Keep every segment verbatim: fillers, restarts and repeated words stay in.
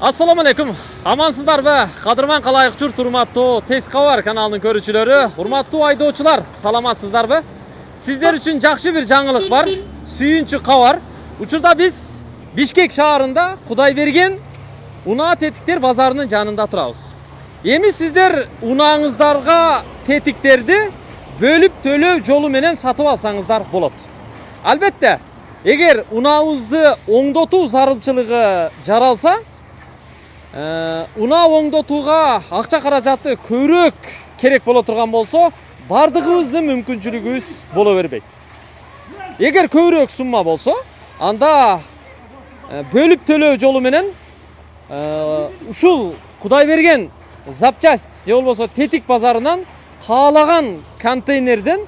Assalamu alaikum. Amansızdarбы? Кадырман калайык журт, урматтуу Тез кабар каналынын көрүүчүлөрү, урматтуу айдоочулар, саламатсыздарбы? Сиздер үчүн жакшы бир жаңылык бар. Сүйүнчү кабар. Учурда биз Бишкек шаарында Кудайберген унаа тетиктер базарынын жанында турабыз. Эми сиздер унааңыздарга тетиктерди бөлүп төлөө жолу менен сатып алсаңыздар болот. Албетте, эгер унаабызды оңдотуу зарылчылыгы жаралса, унаа оңдотууга акча каражаты көбүрөөк керек боло турган болсо, бардыгыбыздын мүмкүнчүлүгүбүз боло бербейт. Эгер көбүрөөк сумма болсо, анда бөлүп төлөө жолу менен ушул Кудайберген запчасть же болбосо тетик базарынан каалаган контейнерден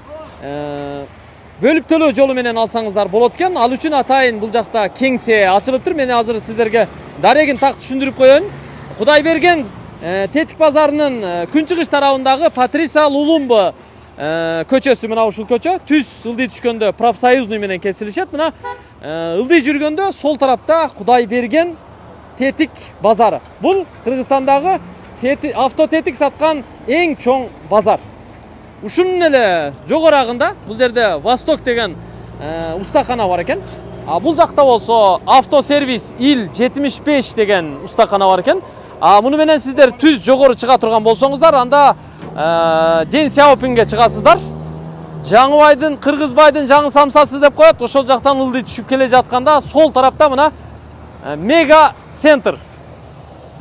бөлүп төлөө жолу менен алсаңыздар болот экен. Ал үчүн атайын бул жакта кеңсе ачылыптыр. Мен азыр сиздерге дарегин так түшүндүрүп коеюн. Кудайберген тетик базарынын күнчыгыш тарабындагы Патриса Лулумба көчөсү, мына ушул көчө түз ылдый түшкөндө профсоюзный менен кесилишет. Мына ылдый жүргөндө сол тарапта Кудайберген тетик базары. Бул Кыргызстандагы автотетик саткан эң чоң базар. Ушунун эле жогорагында бул жерде Восток деген устакана бар экен. А бул жакта болсо автосервис ил жетимиш беш деген устакана бар экен. А муну менен сиздер түз жогору чыга турган болсоңуздар, анда Ден Сяопинге чыгасыздар. Жаңыбайдын, Кыргызбайдын жаңы самсасы деп коет. Ошол жактан ылдый түшүп келе жатканда сол тарапта мына Мега центр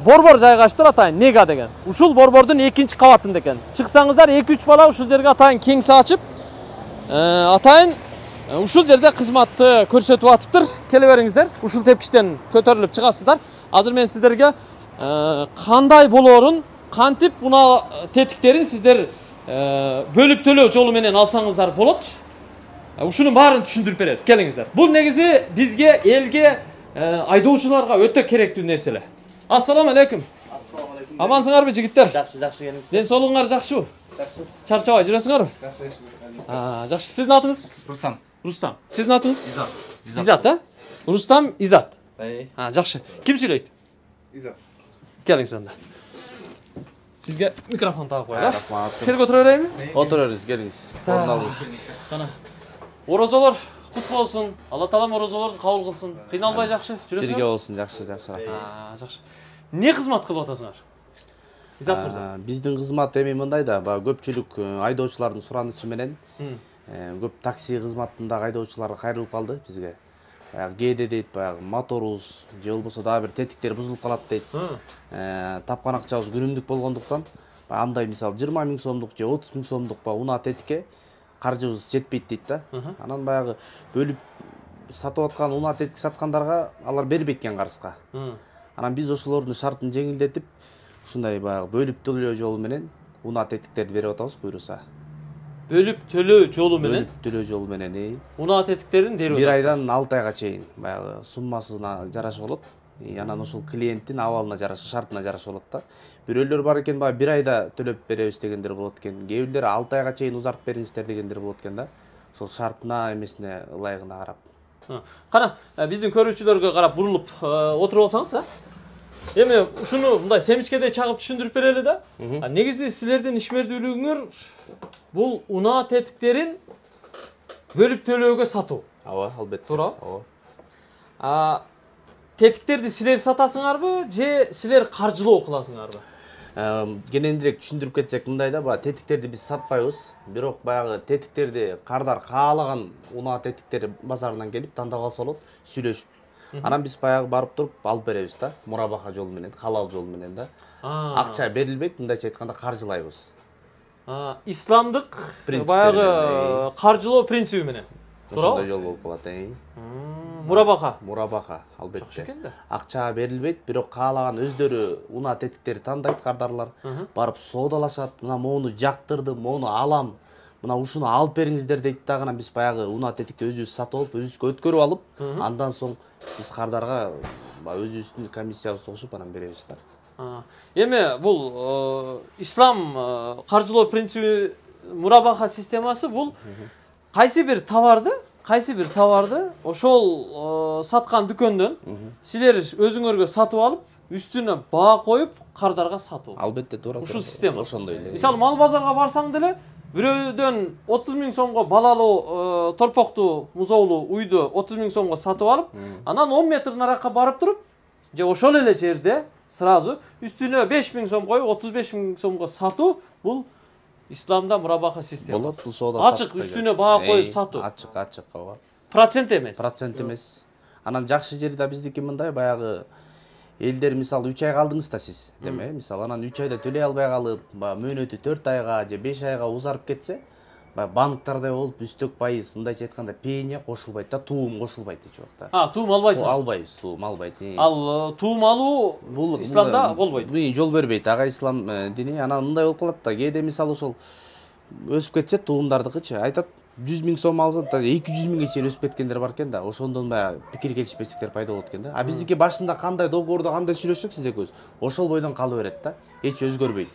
борбор жайгашып тур, атайын Мега деген. Ушул борбордун экинчи кабатында экен. Чыксаңыздар эки үч бала ушул жерге атайын кеңсе ачып, атайын ушул жерде кызматты көрсөтүп атыптыр. Келе бериңиздер. Ушул тепкичтен көтөрүлүп чыгасыздар. Азыр мен сиздерге кандай болоорун, кантип унаа тетиктерин сиздер бөлүп төлөө жолу менен алсаңыздар болот. Ушунун баарын түшүндүрүп беребиз. Келиңиздер. Бул негизи бизге, элге, айдоочуларга өтө керектүү нерселер. Ассаламу алейкум. Ассаламу алейкум. Амансыңарбы жигиттер? Жакшы, жакшы келиңиз. Ден соолугуңар жакшыбы? Жакшы. Чарчабай жүрөсүңөрбү? Жакшы. А, жакшы. Сиздин атыңыз? Рустам. Рустам. Сиздин атыңыз? Изат. Изат, а? Рустам, Изат. Ай. А, жакшы. Ким сүйлөйт? Изат. Келиңиз анда. Сизге микрофон тагып коелу. Рахмат. Силерге отура берейинби? Отурабыз, келиңиз. Орун алыңыз. Кана. Орозолор кут болсун. Алла таалам орозолорду кабыл кылсын. Кыйналбай жакшы жүрөсүңөр? Бирге болсун, жакшы, жакшы. А, жакшы. Эмне кызмат кылып атасыңар? Изат мырза. Биздин кызмат эми мындай да, баягы көпчүлүк айдоочулардын суранычы менен көп такси кызматындагы айдоочулар кайрылып калды бизге. Баягы кээде дейт, баягы моторубуз же болбосо дагы бир тетиктер бузулуп калат дейт. Тапкан акчабыз күнүмдүк болгондуктан, андай мисалы жыйырма миң сомдук же отуз миң сомдук ба унаа тетикке каржыбыз жетпейт дейт да. Анан баягы бөлүп сатып аткан унаа тетик саткандарга алар бербейт экен карызга. Анан биз ошолордун шартын жеңилдетип, ушундай баягы бөлүп төлөө жолу менен унаа тетиктерди берип атабыз, буйруса. Бөлүп төлөө жолу менен? Бөлүп төлөө жолу менен, эй. Унаа тетиктерин берип атасыз. бир айдан алты айга чейин баягы суммасына жараша болот. Анан ошол клиенттин абалына жараша, шартына жараша болот да. Бирөөлөр бар экен, баягы бир айда төлөп беребиз дегендер болот экен. Кээ бирлер алты айга чейин узартып бериңиздер дегендер болот экен да. Ошол шартына эмесине ылайыгына карап. Кана, биздин көрүүчүлөргө карап бурулуп отуруп алсаңыз, а? Эми ушуну мындай семичкедей чагып түшүндүрүп берели да. Негизи силердин ишмердүүлүгүңөр бул унаа тетиктерин бөлүп төлөөгө сатуу. Ооба, албетте. Туура. Ооба. А тетиктерди силер сатасыңарбы же силер каржылоо кыласыңарбы? Кенендирээк түшүндүрүп кетсек мындай да, баягы тетиктерди биз сатпайбыз. Бирок баягы тетиктерди кардар каалаган унаа тетиктер базарынан келип тандап алса болот, сүйлөшүп. Анан биз баягы барып туруп алып беребиз да, мурабаха жолу менен, халал жолу менен да. Акча берилбейт, мындайча айтканда каржылайбыз. Исламдык баягы каржылоо принциби менен. Ошондой жол болуп калат, э. Мурабаха. Мурабаха, албетте. Акча берилбейт, бирок каалаган өздөрү унаа тетиктерди тандайт кардарлар. Барып соодалашат, мына моуну жактырдым, моуну алам. Мына ушуну алып бериңиздер дейт дагы, анан биз баягы унаа тетикти өзүбүз сатып алып, өзүбүзгө өткөрүп алып, андан соң биз кардарга өзүбүздүн комиссиябызды кошуп анан беребиз да. Эми бул ислам каржылоо принциби, мурабаха системасы бул кайсы бир товарды, кайсы бир товарды ошол саткан дүкөндөн силер өзүңөргө сатып алып, үстүнө баа коюп кардарга сатуу. Албетте туура. Ушул система. Ошондой эле. Мисалы мал базарга барсаң деле бирөөдөн отуз миң сомго балалуу торпоктуу музоолуу уйду отуз миң сомго сатып алып, анан он метр наракка барып туруп, же ошол эле жерде сразу үстүнө беш миң сом коюп отуз беш миң сомго сатуу, бул исламда мурабаха система. Болот, бул соода ачык үстүнө баа коюп сатуу. Ачык, ачык, ооба. Процент эмес. Процент эмес. Анан жакшы жери да биздики мындай, баягы элдер мисалы үч айга алдыңыз да сиз, деме, мисалы анан үч айда төлөй албай калып, баягы мөөнөтү төрт айга же беш айга узарып кетсе, баягы банктардай болуп үстөк пайыз, мындайча айтканда пеня кошулбайт да, туум кошулбайт эч убакта. А, туум албайсың? Албайбыз, туум албайт. Ал туум алуу бул исламда болбойт. Бул жол бербейт, ага ислам дини. Анан мындай болуп калат да, кээде мисалы ошол өсүп кетсе туумдардыкычы, айтат жүз миң сом алса да эки жүз миңге чейин өсүп кеткендер бар экен да, ошондон баягы пикир келишпестиктер пайда болот экен да. А биздики башында кандай договордо кандай сүйлөшсөк сиз экөөбүз, ошол бойдон кала берет да, эч өзгөрбөйт.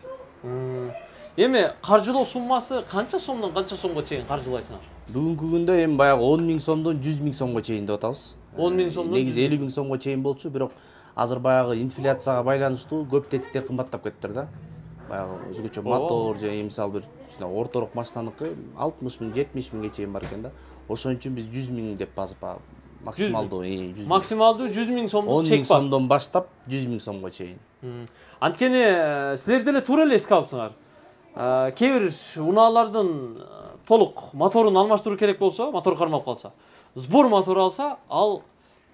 Эми каржылоо суммасы канча сомдон канча сомго чейин каржылайсыңар? Бүгүнкү күндө эми баягы он миң сомдон жүз миң сомго чейин деп атабыз. он миң сомдон негизи элүү миң сомго чейин болчу, бирок азыр баягы инфляцияга байланыштуу көп тетиктер кымбаттап кетиптир да. Баягы өзгөчө мотор же мисалы бир орторок машинаныкы алтымыш миң, жетимиш миңге чейин бар экен да. Ошон үчүн биз жүз миң деп базып максималдуу жүз максималдуу жүз миң сомдук чек бар. он миң сомдон баштап жүз миң сомго чейин. Анткени силер деле туура эле эске алыпсыңар. Кээ бир унаалардын толук моторун алмаштыруу керек болсо, мотор кармалып калса, сбор мотор алса, ал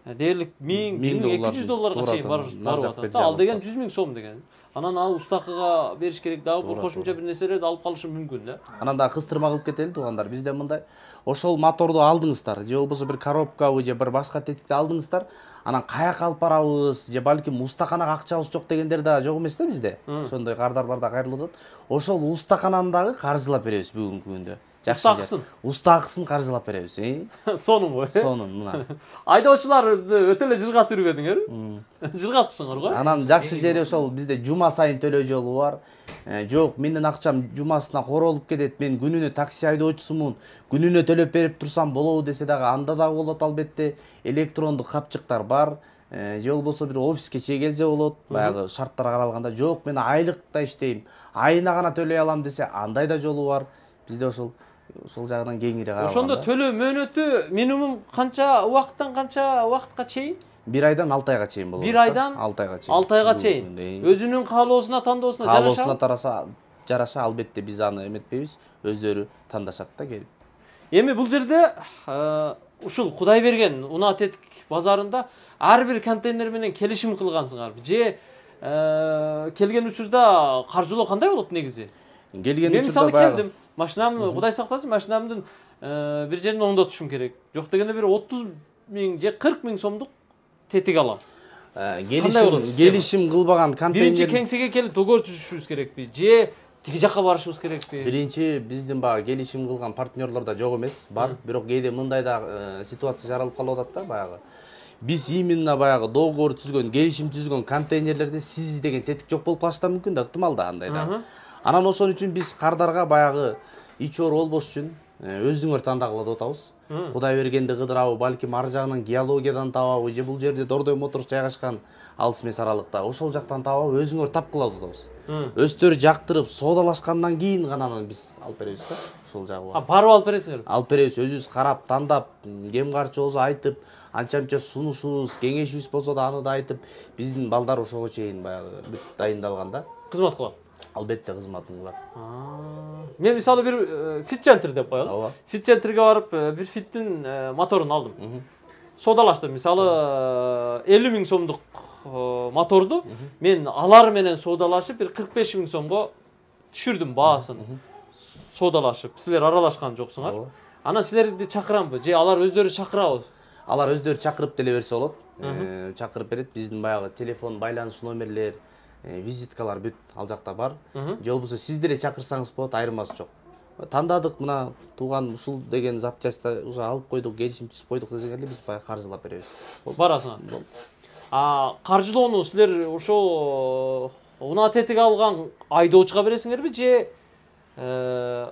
дээрлик миң, миң эки жүз долларга чейин барып атат. Ал деген жүз миң сом деген. Анан ал устакыга бериш керек дагы, бир кошумча бир нерселерди алып калышы мүмкүн да. Анан дагы кыстырма кылып кетели туугандар. Бизде мындай, ошол моторду алдыңыздар, же болбосо бир коробкабы же бир башка тетикти алдыңыздар, анан каяка алып барабыз, же балким устаканага акчабыз жок дегендер да жок эмес да бизде. Ошондой кардарлар да кайрылып атат. Ошол устакананы дагы каржылап беребиз бүгүнкү күндө. Устакысын. Устакысын каржылап беребиз, э? Сонун го, э? Сонун, мына. Айдоочуларды өтө эле жыргатып жүрбөдүңөр? Жыргатышыңар го. Анан жакшы жери ошол бизде жума сайын төлөө жолу бар. Жок, менин акчам жумасына королуп кетет, мен күнүнө такси айдоочусумун, күнүнө төлөп берип турсам болобу десе дагы анда дагы болот албетте. Электрондук капчыктар бар. Же болбосо бир офиске чейин келсе болот, баягы шарттар каралганда. Жок, мен айлыкта иштейм, айына гана төлөй алам десе, андай да жолу бар. Бизде ошол ошол жагынан кеңири каралган. Ошондо төлөө мөөнөтү минимум канча убакыттан канча убакытка чейин? бир айдан алты айга чейин болот. бир айдан алты айга чейин. алты айга чейин. Өзүнүн каалоосуна, тандоосуна жараша. Каалоосуна тараса жараша, албетте биз аны эметпейбиз, өздөрү тандашат да келип. Эми бул жерде ушул Кудай берген унаа тетик базарында ар бир контейнер менен келишим кылгансыңарбы? Же келген учурда каржылоо кандай болот негизи? Келген учурда мисалы келдим, машинамды Кудай сактасын, машинамдын бир жерин оңдотушум керек. Жок дегенде бир отуз миң же кырк миң сомдук тетик алам. Келишим келишим кылбаган контейнер. Биринчи кеңсеге келип договор түзүшүбүз керекпи? Же тиги жакка барышыбыз керекпи? Биринчи биздин баягы келишим кылган партнерлор да жок эмес, бар. Бирок кээде мындай да ситуация жаралып калып атат да баягы. Биз именно баягы договор түзгөн, келишим түзгөн контейнерлерде сиз деген тетик жок болуп калышы да мүмкүн да, ыктымал да андай да. Анан ошон үчүн биз кардарга баягы ич оор болбош үчүн өзүңөр тандагыла деп атабыз. Кудай бергенди кыдырабы, балким ар жагынан геологиядан табабы, же бул жерде Дордой Моторс жайгашкан алыс эмес аралыкта. Ошол жактан табабы, өзүңөр тапкыла деп атабыз. Өздөрү жактырып, соодалашкандан кийин гана анан биз алып беребиз да. Ошол жагы бар. А барып алып бересиңер? Алып беребиз, өзүбүз карап, тандап, кем карчы болсо айтып, анча-мынча сунушубуз, кеңешибиз болсо да аны да айтып, биздин балдар ошого чейин баягы бүт дайындалган да. Кызмат кылат. Албетте кызматын кылат. Мен мисалы бир фит центр деп коелу. Фит центрге барып бир фиттин моторун алдым. Соодалаштым. Мисалы элүү миң сомдук моторду мен алар менен соодалашып бир кырк беш миң сомго түшүрдүм баасын. Соодалашып. Силер аралашкан жоксуңар. Анан силерди чакырамбы? Же алар өздөрү чакырабы? Алар өздөрү чакырып деле берсе болот. Чакырып берет. Биздин баягы телефон байланыш номерлер, визиткалар бүт ал жакта бар. Же болбосо сиз деле чакырсаңыз болот, айырмасы жок. Тандадык, мына тууган ушул деген запчастьта уже алып койдук, келишим түзүп койдук десеңер, биз баягы каржылап беребиз. Барасыңар. А каржылоону силер ошо унаа тетик алган айдоочуга бересиңерби же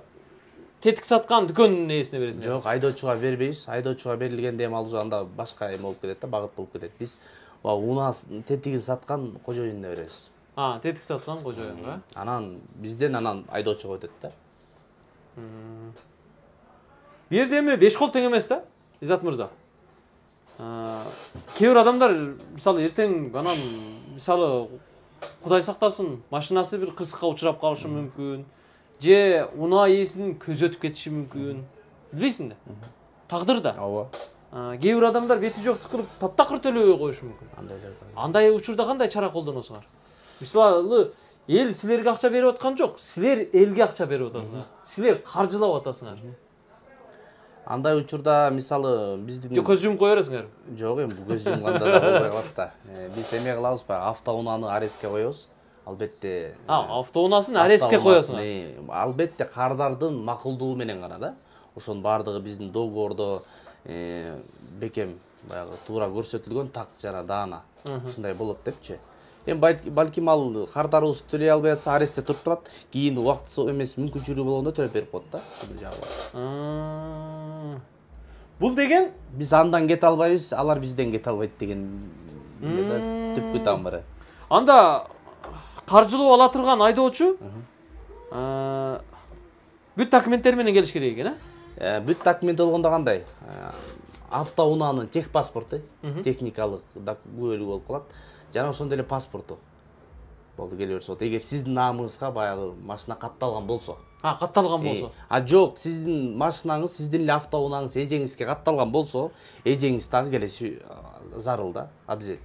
тетик саткан дүкөндүн ээсине бересиңерби? Жок, айдоочуга бербейбиз. Айдоочуга берилгенде эми ал уже анда башка эме болуп кетет да, багыт болуп кетет. Биз унаас тетигин саткан кожоюнуна беребиз. А, тетик саткан кожоюнга. Анан бизден анан айдоочуга өтөт да. Бу жерде эми беш кол тең эмес да, Изат мырза. Кээ бир адамдар мисалы эртең анан мисалы Кудай сактасын, машинасы бир кырсыкка учурап калышы мүмкүн, же унаа ээсинин көзү өтүп кетиши мүмкүн. Билбейсиң да? Тагдыр да. Ооба. Кээ бир адамдар бети жокту кылып таптакыр төлөбөй коюшу мүмкүн. Андай жагдайда. Андай учурда кандай чара колдоносуңар? Мисалы, эл силерге акча берип аткан жок, силер элге акча берип атасыңар. Силер каржылап атасыңар. Андай учурда мисалы биздин Жок, көз жумуп кое бересиңер. Жок, эми бул көз жумганда да болбой калат да. Биз эме кылабыз баягы автоунааны арестке коебуз. Албетте. А, автоунаасын арестке коесуңар. Албетте кардардын макулдугу менен гана да. Ошонун баардыгы биздин договордо бекем баягы туура көрсөтүлгөн так жана даана. Ушундай болот депчи. Эми балким ал кардарыбыз төлөй албай атса арестте туруп турат, кийин убакытсы эмес мүмкүнчүлүгү болгондо төлөп берип коет да. Ушундай жагы бар. Бул деген биз андан кете албайбыз, алар бизден кете албайт деген түпкү тамыры. Анда каржылоо ала турган айдоочу бүт документтер менен келиш керек экен, э? Бүт документ болгондо кандай? Автоунаанын тех паспорту, техникалык күбөлүгү болуп калат. Жана ошондой эле паспорту болду келе берсе болот. Эгер сиздин наамыңызга баягы машина катталган болсо. А, катталган болсо. А жок, сиздин машинаңыз, сиздин эле автоунааңыз эжеңизге катталган болсо, эжеңиз дагы келиши зарыл да, абзел.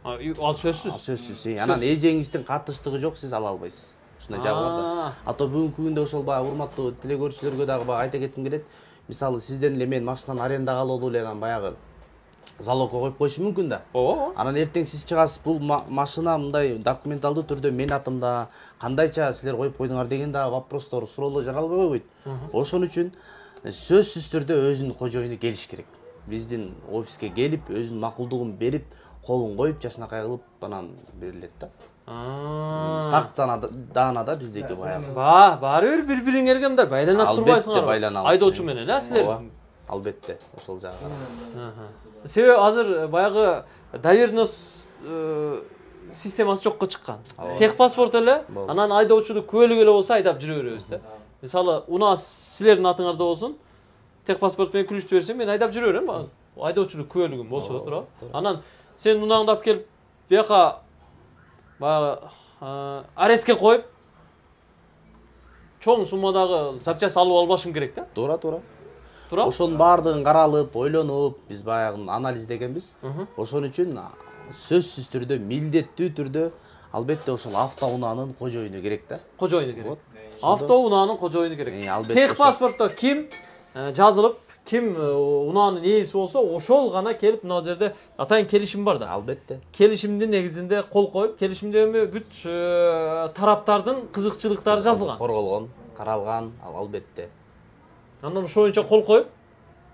Ал сөзсүз. Сөзсүз. Анан эжеңиздин катыштыгы жок, сиз ала албайсыз. Ушундай жагы бар да. Ато бүгүнкү күндө ошол баягы урматтуу телегөрүүчүлөргө дагы баягы айта кетким келет. Мисалы, сизден эле мен машинаны арендага алуу эле анан баягы залогко коюп коюшу мүмкүн да. Ооба. Анан эртең сиз чыгасыз, бул машина мындай документалдуу түрдө мен атымда, кандайча силер коюп койдуңар деген да вопростор, суроолор жаралбай койбойт. Ошон үчүн сөзсүз түрдө өзүнүн кожоюну келиш керек. Биздин офиске келип, өзүнүн макулдугун берип, колун коюп, жашынакай кылып анан берилет да. Тактана даана да биздеки баягы. Ба, баары бир бири-бириңерге мындай байланып турбайсыңар. Айдоочу менен, а силер? Албетте, ошол жагы. Себеби азыр баягы доверенность системасы жокко чыккан. Тех паспорт эле, анан айдоочулук күбөлүк эле болсо айдап жүрө беребиз да. Мисалы, унаа силердин атыңарда болсун, тех паспорт менен күлүштү берсең, мен айдап жүрө берем. Айдоочулук күбөлүгүм болсо туурабы? Анан сен унааңды алып келип, бияка баягы арестке коюп, чоң суммадагы запчасть алып албашым керек да. Туура, туура. Туура. Ошонун баардыгын каралып, ойлонуп, биз баягы анализдегенбиз. Ошон үчүн сөзсүз түрдө, милдеттүү түрдө албетте ошол автоунаанын кожоюну керек да. Кожоюну керек. Автоунаанын кожоюну керек. Тех паспортто ким жазылып, ким унаанын ээси болсо, ошол гана келип мына жерде атайын келишим бар да. Албетте. Келишимдин негизинде кол коюп, келишимде эми бүт тараптардын кызыкчылыктары жазылган. Корголгон, каралган, албетте. Андан ошол боюнча кол коюп,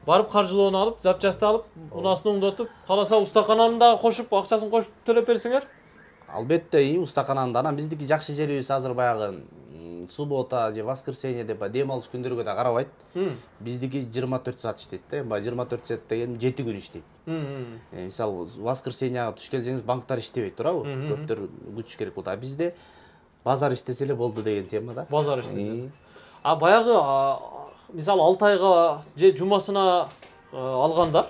барып каржылоону алып, запчасты алып, унаасын оңдотуп, каласа устакананы дагы кошуп, акчасын кошуп төлөп берсеңер? Албетте, устакананы. Анан биздики жакшы жерибиз азыр баягы суббота же воскресенье деп дем алыш күндөргө да карабайт. Биздики жыйырма төрт саат иштейт да. Баягы жыйырма төрт саат деген жети күн иштейт. Мисалы, воскресеньяга туш келсеңиз банктар иштебейт, туурабы? Көптөр күтүш керек болот. А бизде базар иштесе эле болду деген тема да. Базар иштесе. А баягы мисалы алты айга же жумасына алгандар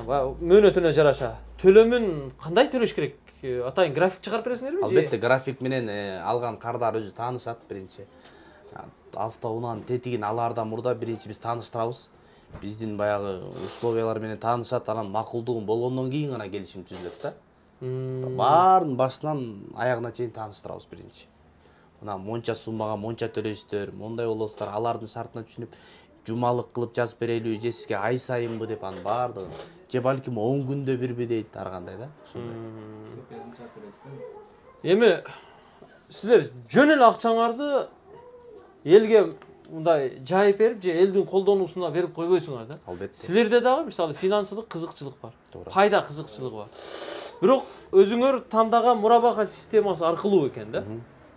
мөөнөтүнө жараша төлөмүн кандай төлөш керек? Атайын график чыгарып бересиңерби? Албетте, график менен алган кардар өзү таанышат биринчи. Автоунаанын тетигин алаардан мурда биринчи биз тааныштырабыз. Биздин баягы условиялар менен таанышат, анан макулдугун болгондон кийин гана келишим түзүлөт да. Баарын башынан аягына чейин тааныштырабыз биринчи. Мына монча суммага монча төлөйсүздөр, мондай болосуздар, алардын шартына түшүнүп, жумалык кылып жазып берелиби, же сизге ай сайынбы деп анын баардыгын, же балким он күндө бирби дейт, ар кандай да, ошондой. Эми силер жөн эле акчаңарды элге мындай жайып берип, же элдин колдонуусуна берип койбойсуңар да. Албетте. Силерде дагы мисалы финансылык кызыкчылык бар. Пайда кызыкчылыгы бар. Бирок өзүңөр тандаган мурабака системасы аркылуу экен да.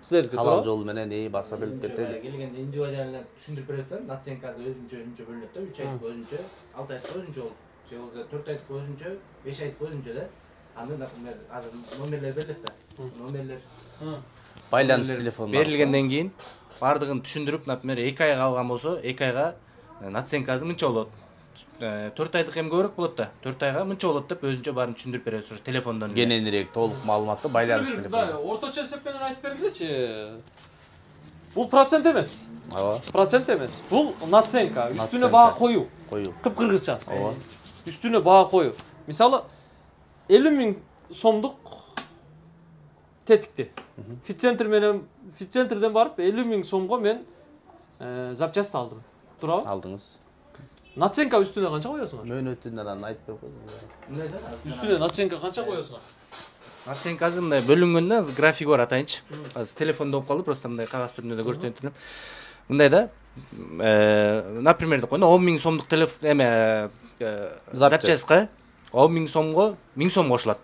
Силерге халал жол менен эй баса билип кетели. Келгенде индивидуально түшүндүрүп бересиздер. Наценкасы өзүнчө өзүнчө бөлүнөт да. үч айдык өзүнчө, алты айдык өзүнчө болот. Же болбосо төрт айдык өзүнчө, беш айдык өзүнчө да. Анда, например, азыр номерлер берилет да. Номерлер байланыш телефону берилгенден кийин бардыгын түшүндүрүп, например, эки айга алган болсо, эки айга наценкасы мынча болот. төрт айдык эми көбүрөөк болот да. төрт айга мынча болот деп өзүнчө баарын түшүндүрүп беребиз ошо телефондон. кененирээк толук маалыматты байланыш телефону. Орточо эсеп менен айтып бергилечи. Бул процент эмес. Ооба. Процент эмес. Бул наценка, үстүнө баа коюу. Коюу. Кыпкыргызчасы. Ооба. Үстүнө баа коюу. Мисалы элүү миң сомдук тетикти. Фитцентр менен Фитцентрден барып элүү миң сомго мен запчасть алдым. Туурабы? Алдыңыз. Наценка үстүнө канча коесуңар? Мөөнөтүн анан айтып койгон. Үстүнө наценка канча коесуңар? Наценка азыр мындай бөлүнгөндө азыр график бар атайынчы. Азыр телефондо болуп калды, просто мындай кагаз түрүндө да көрсөтүп. Мындай да, например деп койгондо он миң сомдук телефон эме запчастька он миң сомго миң сом кошулат.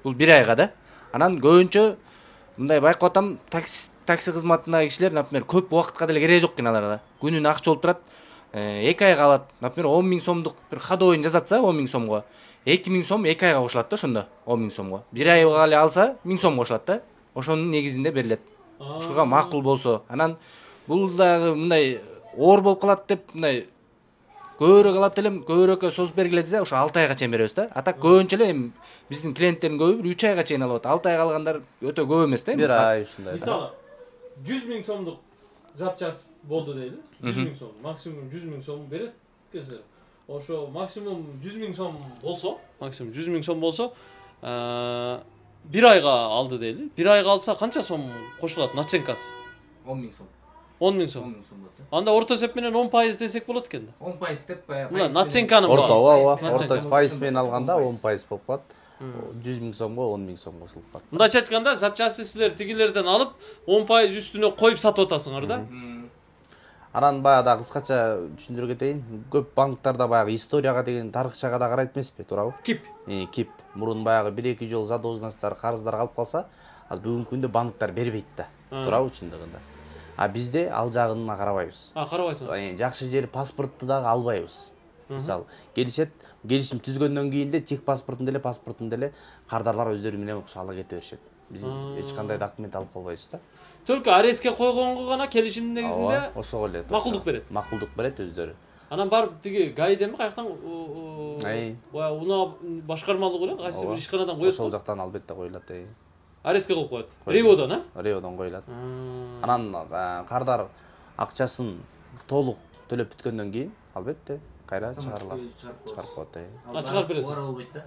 Бул бир айга да. Анан көбүнчө мындай байкап атам, такси такси кызматындагы кишилер, например, көп убакытка деле кереги жок экен аларга. Күнүнө акча болуп турат. эки айга алат. Например, он миң сомдук бир ходовойн жасатса он миң сомго, эки миң сом эки айга кошулат да ошондо, он миң сомго. бир айга эле алса миң сом кошулат да. Ошонун негизинде берилет. Ушуга макул болсо. Анан бул дагы мындай оор болуп калат деп мындай көбүрөөк алат элем, көбүрөөккө созуп бергиле десе, ошо алты айга чейин беребиз да. А так көбүнчө эле эми биздин клиенттердин көбү бир үч айга чейин алып атат. алты айга алгандар өтө көп эмес да. бир ай ушундай. Мисалы жүз миң сомдук запчасть болду дейли. жүз миң сом, максимум жүз миң сом берет кесе. Ошо максимум жүз миң сом болсо, максимум жүз миң сом болсо, бир айга алды дейли. бир айга алса канча сом кошулат наценкасы? он миң сом. он миң сом. он миң сом болот. Анда орто эсеп менен он пайыз десек болот экен да. он пайыз деп баягы. Мына наценканын Орто, ооба, Наценка. орто пайыз менен алганда он пайыз болуп калат. жүз миң сомго он миң сом кошулуп калат. Мындайча айтканда, запчасти силер тигилерден алып он пайыз үстүнө коюп сатып атасыңар да. Анан баягы кыскача түшүндүрө кетейин. Көп банктарда баягы историяга деген тарыхчага да карайт эмеспи, туурабы? Кип. Кип. Мурун баягы бир эки жол задолженностьтар, карыздар калып калса, азыр бүгүнкү күндө банктар бербейт да. Туурабы чындыгында? А бизде ал жагына карабайбыз. А, карабайсың. Жакшы жери паспортту дагы албайбыз. Мисалы, келишет, келишим түзгөндөн кийин деле тех паспортун деле, паспортун деле кардарлар өздөрү менен окшо ала кете беришет. Биз эч кандай документ алып калбайбыз да. Только арестке койгонго гана келишимдин негизинде ошого эле макулдук берет. Макулдук берет өздөрү. Анан барып тиги гайдеми каяктан баягы унаа башкармалык эле кайсы бир ишканадан коет. Ошол жактан албетте коюлат. Арестке коюп коет. Реводон, а? Реводон коюлат. Анан кардар акчасын толук төлөп бүткөндөн кийин албетте кайра чыгарылат. Чыгарып коет. А чыгарып бересиң. Ора болбойт да.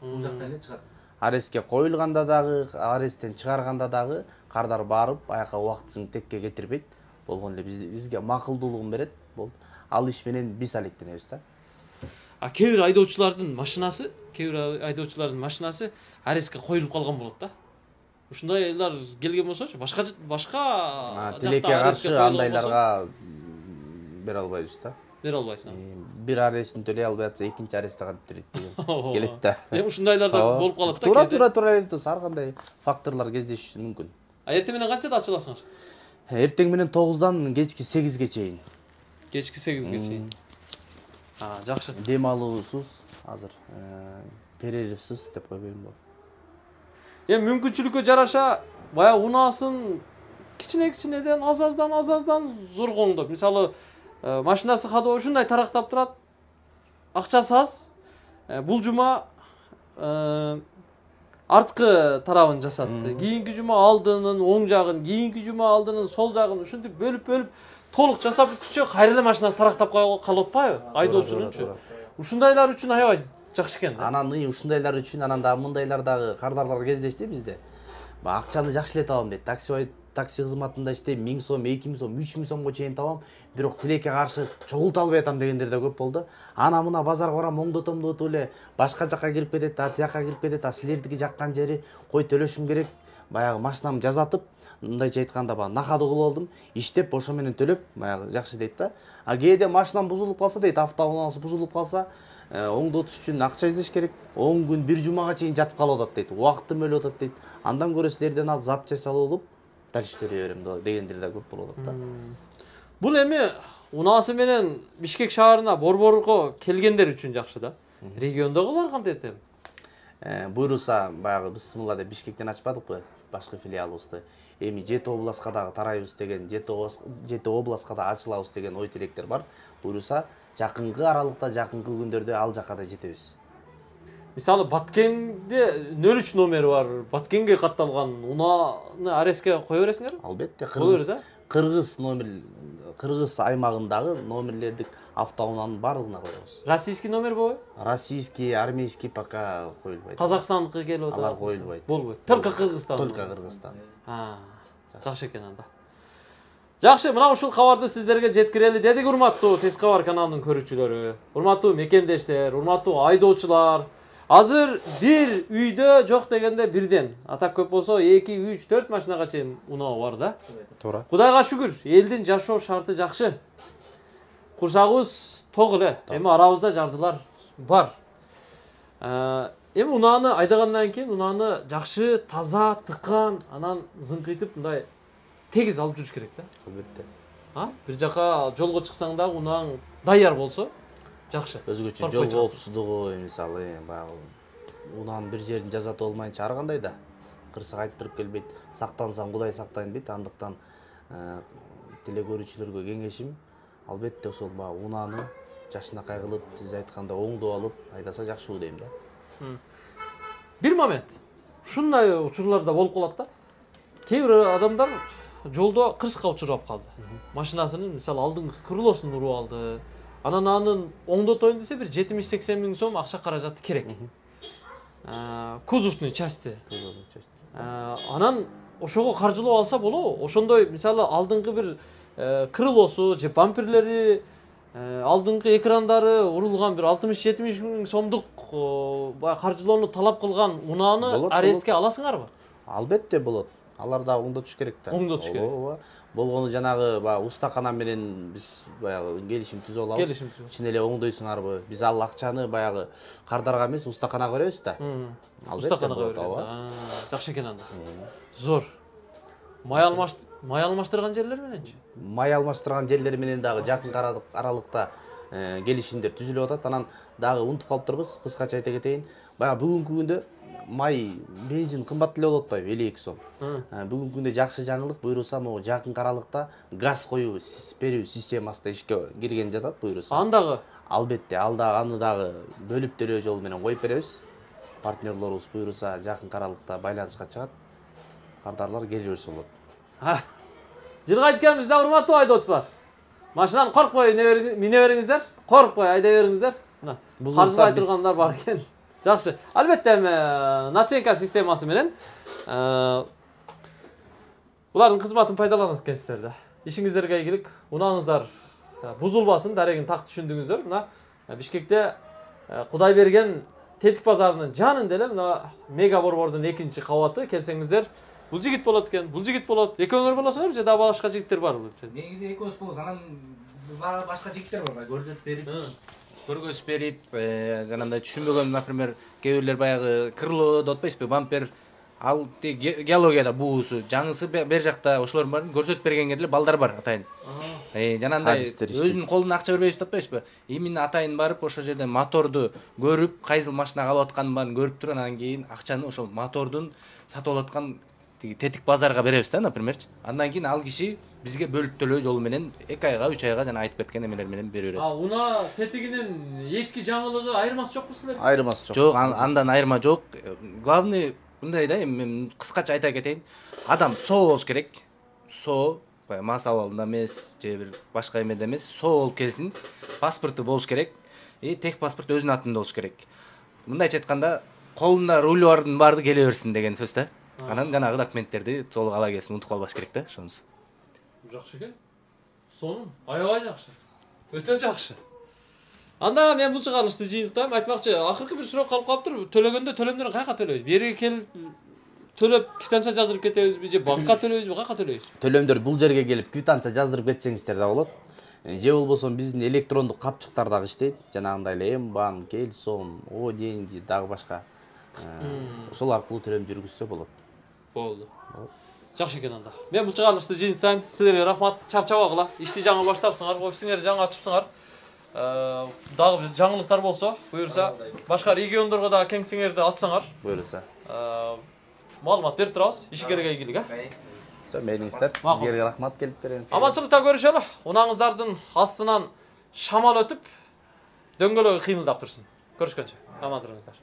Бул жактан эле чыгарат. Арестке коюлганда дагы, аресттен чыгарганда дагы кардар барып, аяка убактысын текке кетирбейт. Болгон эле бизге макулдуулугун берет. Болду. Ал иш менен биз алектенебиз да. А кээ бир айдоочулардын машинасы, кээ бир айдоочулардын машинасы арестке коюлуп калган болот да. Ушундайлар келген болсочу, башка башка тилекке каршы андайларга бере албайбыз да. Бере албайсың. Бир арестин төлөй албай атса, экинчи арест кантип төлөйт деген келет да. Эми ушундайлар да болуп калат да. Туура, туура, туура эле ар кандай факторлор кездешиши мүмкүн. А эртең менен канчада ачыласыңар? Эртең менен тогуздан кечки сегизге чейин. Кечки сегизге чейин. А, жакшы. Дем алуусуз азыр перерывсыз деп койбойм болот. Эми мүмкүнчүлүккө жараша баягы унаасын кичине-кичинеден аз-аздан аз-аздан зоргоңдоп. Мисалы, машинасы ходовой ушундай тарактап турат. Акчасы аз. Бул жума арткы тарабын жасатты. Кийинки жума алдынын оң жагын, кийинки жума алдынын сол жагын ушинтип бөлүп-бөлүп толук жасап бүткүчө кайра эле машинасы тарактап калып атпайбы? Айдоочунунчу. Ушундайлар үчүн аябай жакшы экен. Анан ушундайлар үчүн анан дагы мындайлар дагы кардарлар кездешти бизде. Акчаны жакшылап табам дейт. Такси такси кызматында иштейм, миң сом, эки миң сом, үч миң сомго чейин табам, бирок тилекке каршы чогулта албай атам дегендер да көп болду. Ана мына базарга барам, оңдотом деп эле башка жакка кирип кетет, а тияка кирип кетет, а силердики жаккан жери кой төлөшүм керек. Баягы машинамды жазатып, мындайча айтканда баягы накады кылып алдым, иштеп ошо менен төлөп, баягы жакшы дейт да. А кээде машинам бузулуп калса дейт, автоунаасы бузулуп калса, оңдотуш үчүн акча издеш керек. он күн бир жумага чейин жатып калып атат дейт. Убактым өлүп атат дейт. Андан көрө силерден ал запчасть алып алып, дальше төлөй берем дегендер да көп болуп атат да. Бул эми унаасы менен Бишкек шаарына борборго келгендер үчүн жакшы да. Региондогулар кантип этем? буйруса баягы биз мыла деп Бишкектен ачпадыкпы башкы филиалыбызды. Эми жети областка дагы тарайбыз деген, жети областка да ачылабыз деген ой тилектер бар. Буйруса жакынкы аралыкта, жакынкы күндөрдө ал жакка да жетебиз. Мисалы Баткенде нөл үч номери бар. Баткенге катталган унааны ареске кое бересиңерби? Албетте, Кыргыз Кыргыз номер Кыргыз аймагындагы номерлердик автоунаанын барлыгына коебуз. Российский номер болбойбу? Российский, армейский пока коюлбайт. Казакстандыкы келип атат. Алар коюлбайт. Болбойт. Только Кыргызстан. Только Кыргызстан. А, жакшы экен анда. Жакшы, мына ушул кабарды сиздерге жеткирели дедик, урматтуу Тез кабар каналынын көрүүчүлөрү, урматтуу мекендештер, урматтуу айдоочулар. Азыр бир үйдө жок дегенде бирден, атак көп болсо эки, үч, төрт машинага чейин уноо бар да. Туура. Кудайга шүгүр, элдин жашоо шарты жакшы. Курсагыбыз ток эле. Эми арабызда жардылар бар. Эми унааны айдагандан кийин унааны жакшы, таза, тыккан, анан зыңкыйтып мындай тегиз алып жүрүш керек да. Албетте. А, бир жака жолго чыксаң да унааң даяр болсо жакшы. Өзгөчө жол коопсуздугу, мисалы, баягы унаанын бир жерин жазат болмайынча ар кандай да кырсык айттырып келбейт. Сактансаң Кудай сактайын дейт. Андыктан теле көрүүчүлөргө кеңешим, албетте ошол баягы унааны жашынакай кылып, сиз айткандай оңдоп алып айдаса жакшы дейм да. Бир момент. Ушундай учурларда болуп калат да. Кээ бир адамдар жолдо кырсыкка учурап калды. Машинасынын мисалы алдыңкы крылосун уруп алды. Анан анын оңдотоюн десе бир жетимиш сексен миң сом акча каражаты керек. Кузовный части. Анан ошого каржылап алса болобу? Ошондой мисалы алдыңкы бир крылосу же бамперлери, алдыңкы экрандары урулган бир алтымыш жетимиш миң сомдук баягы каржылоону талап кылган унааны арестке аласыңарбы? Албетте болот. Алар да оңдотуш керек да. Оңдотуш керек. Болгону жанагы баягы устакана менен биз баягы келишим түзүп алабыз. Чын эле оңдойсуңарбы? Биз ал акчаны баягы кардарга эмес, устаканага беребиз да. Устаканага беребиз. Жакшы экен анда. Зор. Май алмаш май алмаштырган жерлер мененчи? Май алмаштырган жерлер менен дагы жакын аралыкта келишимдер түзүлүп атат. Анан дагы унутуп калыптырбыз, кыскача айта кетейин. Баягы бүгүнкү күндө май, бензин кымбат эле болуп атпайбы, элүү эки сом. Бүгүнкү күндө жакшы жаңылык буйруса могу жакын аралыкта газ коюу берүү системасы да ишке кирген жатат буйруса. Андагы албетте, ал да аны дагы бөлүп төлөө жолу менен коюп беребиз. Партнерлорубуз буйруса жакын аралыкта байланышка чыгат. Кардарлар келе берсе болот. Жылга айтканбыз да, урматтуу айдоочулар. Машинаны коркпой мине бериңиздер, коркпой айдай бериңиздер. Мына, каржылай тургандар бар экен. Жакшы. Албетте наченка системасы менен улардын кызматын пайдаланат экенсиздер да. Ишиңиздерге ийгилик, унааңыздар бузулбасын, дарегин так түшүндүңүздөр. Мына Бишкекте Кудай берген Тетик базарынын жанында эле мына Мега борбордун экинчи кабаты, келсеңиздер, бул жигит болот экен, бул жигит болот. Экөөңөр болосуңар же да башка жигиттер барбы? Негизи экөөбүз болобуз, анан башка жигиттер бар, көрсөтүп берип, көргөзүп берип, жанагындай түшүнбөгөн, например, кээ бирлер баягы крыло деп атпайсызбы, бампер, ал геологияда буусу, жаңысы бер жакта, ошолордун баарын көрсөтүп бергенге деле балдар бар атайын. Жанагындай өзүнүн колуна акча бербейбиз деп атпайсызбы? Именно атайын барып, ошол жерден моторду көрүп, кайсыл машинага алып атканын баарын көрүп туруп, анан кийин акчаны ошол мотордун сатып алып аткан Тетик базарга беребиз да, напримерчи. Андан кийин ал киши бизге бөлүп төлөө жолу менен эки айга, үч айга жана айтып кеткен эмелер менен бере берет. А уна тетигинин эски жаңылыгы айырмасы жокпу силерде? Айырмасы жок. Жок, андан айырма жок. Главный мындай да, эми кыскача айта кетейин. Адам соо болуш керек. Соо, мас абалында эмес, же бир башка эмеде эмес, соо болуп келсин. Паспорту болуш керек. И тех паспорт өзүнүн атында болуш керек. Мындайча айтканда, колунда руль бардын баарды келе берсин деген сөз да. Анан жанагы документтерди толук ала келсин, унутуп калбаш керек да, ошонусу. Жакшы экен. Сонун, аябай жакшы. Өтө жакшы. Анда мен бул чыгарылышты жыйынтыктайм. Айтмакчы, акыркы бир суроо калып калыптыр. Төлөгөндө төлөмдөрү каяка төлөйбүз? Бериге келип төлөп квитанция жаздырып кетебизби же банкка төлөйбүзбү? Каяка төлөйбүз? Төлөмдөр бул жерге келип квитанция жаздырып кетсеңиздер да болот. Же болбосо биздин электрондук капчыктар дагы иштейт. Жанагындай эле М-банк, Элсом, О деньги дагы башка. Ошол аркылуу төлөм жүргүзсө болот. Болду. Жакшы экен анда. Мен бул чыгарылышты жыйынтыктайм. Силерге рахмат. Чарчабагыла. Ишти жаңы баштапсыңар, офисиңерди жаңы ачыпсыңар. дагы жаңылыктар болсо, буюрса, башка региондорго дагы кеңсеңерди ачсаңар, буюрса. Маалымат берип турабыз, ишкерге ийгилик, э? Мээңиздер, сизге рахмат келип берем. Аманчылыкта көрүшөлү. Унаңыздардын астынан шамал өтүп, дөңгөлөгү кыймылдап турсун. Көрүшкөнчө. Аман туруңуздар.